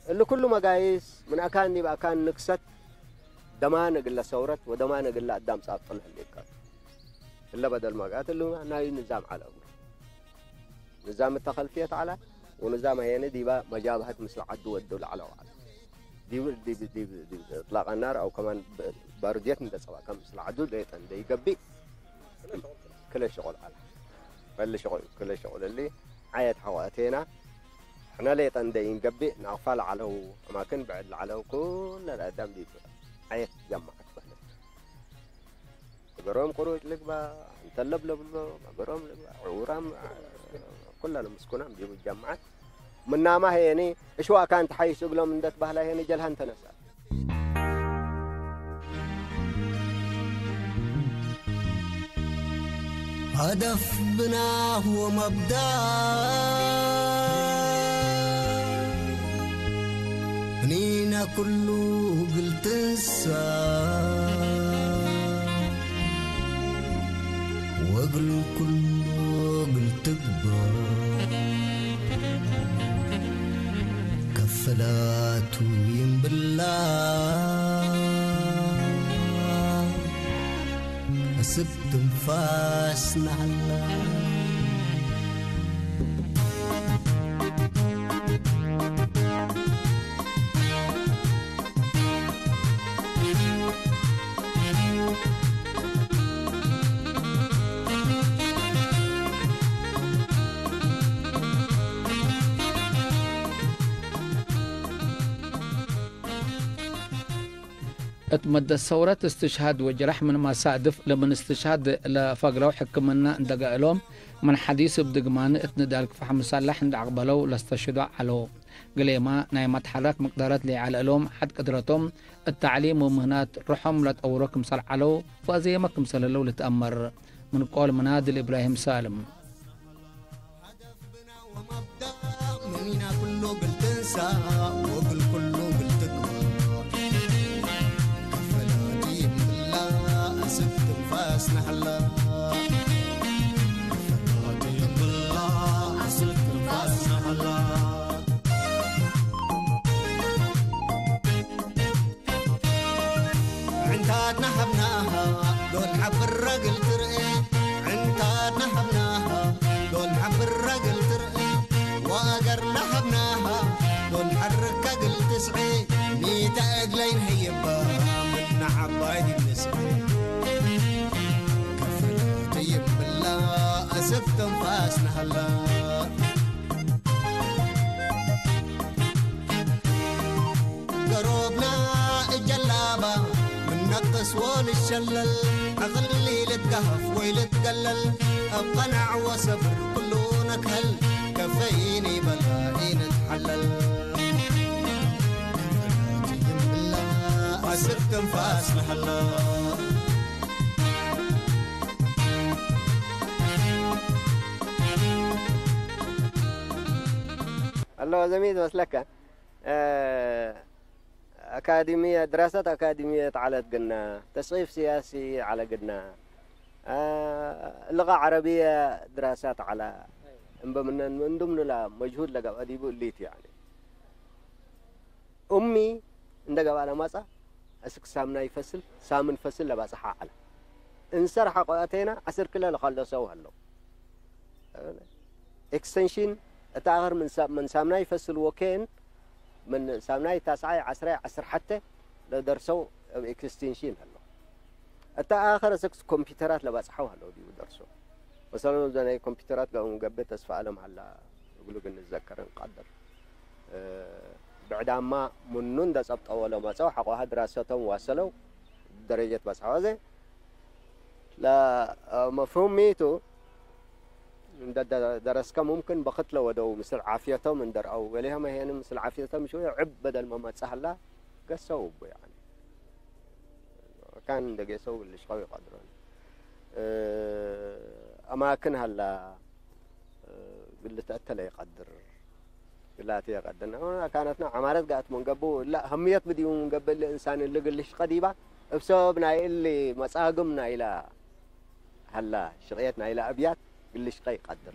እሊ ኩሉ መጋይስ ምን አካን ዲብ አካን ንክሰት ደማን እግለ ሰውረት ወደማን እግለ አዳም ጻብጥ ለህሌከ። እለ በደል መጋት እሉ ናዩ ንዛም ዐለ እግሉ። ንዛም እተ ከልፍየት ዐለ፣ ወንዛም ሀየኒ ዲበ መጃብሀት ምስል ዐዱ ወዱ ለዐለው ዐለ። ዲብ፣ ዲብ፣ ዲብ፣ ዲብ እጥላቅ ናር አው ከማን ብ-፣ ባሩድየት እንደ ጸብአከ ምስል ዐዱ ሌጠ እንደ ኢገብእ ክለ ሽቁል ዐለ። በሊ ሽቁል፣ ክለ ሽቁል እሊ ዐየት ሐቆ አቴና። ሕነ ሌጠ እንዴ ኢንገብእ፣ ናቅፋ ለዐለው አማክን ብዕድ ለዐለው ኩለን አዳም ዲብ ዐየት ጀማዐት በህለት። መገሮም ቅሩጭ ልግባእ፣ እንተ ለብለብሎ መገሮም ልግባእ፣ ዕውራም፣ ኩለን ምስኩናም ዲቡ ጀማዐት። ምናማ ህየኒ እሽዋእ ካን ተሐይስ እግሎም እንደ ትበህላ ህየኒ ጀልሃን ተነስአት። هدف بناه ومبدأ እኒነ ኩሉ እግል ትንሳእ ወእግል ኩሉ እግል ትግበእ ከፈላቱ ይም ብላ እስክ ትንፋስና ሀላ። እት መደት ሰውረት እስትሽሃድ ወጅረሕ ምን መሳድፍ ለምን እስትሽሃድ ለፈግረው ሕክምና እንደ ገአሎም፣ ምን ሐዲስ እብ ድግማን እት ንዳል ክፋሕ ምሳላሕ እንደ አቅበለው ለስተሽህዶ ዐለው። ግሌመ ናይ መትሐረክ መቅደረት ለይዐለ እሎም፣ ሐድ ቅድረቶም እት ተዕሊም ወምህናት ሩሖም ለጠውሮ ክምሰል ዐለው ወአዜመ ክምሰል ህለው ልትአመር። ምን ቆል መናድል እብራሂም ሳልም። هدف بناء ومبدأ مننا كله قلت انسى وقل كله قلت اقوى. كفلاتي بالله أسد انفاس نحلا. كفلاتي بالله أسد انفاس نحلا. ዕንታትና ሀብናሃ ዶል ሐብር ረግል ትርኤ። ዕንታትና ሀብናሃ ዶል ሐብር ረግል ትርኤ። ወአገርና ሀብናሃ ዶል ሐርክ ከግል ትስዔ። ሚተ እግለይ ነህይባ ምነ ዐባይ ዲብ ንስዔ። ከፍለት ይብላ አስክ ትንፋስና ሀላ። ገሮብና እጀላባ ምን ነቅጠስ ወንሸለል፣ ዐቅል ኢልትገሀፍ ወኢልትገለል፣ እብ ቀናዕ ወሰብር ኩሉ ነክሀል፣ ከፈይኒ በላ ኢንትሐለል። እላ አስክ ትንፋስ ለሀላ። አለ ወዘሚት መስለከ፣ እ፣ አካዲሚየ፣ ድራሰት አካዲሚየት ዐለት ግና፣ ተስቂፍ ሲያሲ ዐለ ግና፣ እ፣ ልቀ ዐረብየ ድራሳት ዐለ። እምበ ምነን እንዱም ንላ መጅሁድ ለገብአ ዲቡ እሊት፣ ያኒ። ኡሚ እንደ ገብአ ለመጽአ፣ እስክ ሳምናይ ፈስል፣ ሳምን ፈስል ለባጽሐ ዐለ። እንሰር ሐቆ አቴና፣ ዐስር ክለ ለከለሰው ሀለው። ኤክስቴንሽን እተ አክር ምን ሳ-፣ ምን ሳምናይ ፈስል ወኬን፣ ምን ሳምናይ ታስዓይ፣ ዐስራይ፣ ዐስር ሐቴ ለደርሰው እብ ኤክስቴንሽን ሀለው። እተ አክር እስክ ኮምፒውተራት ለባጽሐው ሀለው ዲቡ ደርሶ። መሰለን፣ እዘ ናይ ኮምፒውተራት ገ-፣ ገብእ ተስፋ አለም ሀላ እግሉ ግን ንዘከር እንቀድር። እ፣ ብዕዳማ ምኑ እንደ ጸብጠው ወለመጸው ሐቆሃ ድራሰቶም ዋሰለው ደረጀት በጽሐው። አዜ ለመፍሁም ሚቱ እንደ ደ-፣ ደረስከ ሙምክን በክት ለወደው ምስል ዓፍየቶም እንደርአው ወሌሀመ ሄን ምስል ዓፍየቶም ሽወየ ዕብ በደል መመጽእ ሀላ ገሰው እቡ፣ ያኒ። ካን እንደ ጌሰው ልሽቀው ይቀድሮን። እ፣ አማክን ሀላ፣ እ፣ እግል ልትአተለ ይቀድር። ግላቴ ቀደና ካነትና ዐማረት ጋት ምን ገብኡ እላ ህምየት ብዲቡ ምን ገብእ እሊ እንሳን እሊ ግልሽ ቀዲባ እብ ሰበብ ናይ እሊ መጻግም ናይላ ሀላ ሽቅየት ናይላ አብያት ግልሽ ቀይ ቀድር።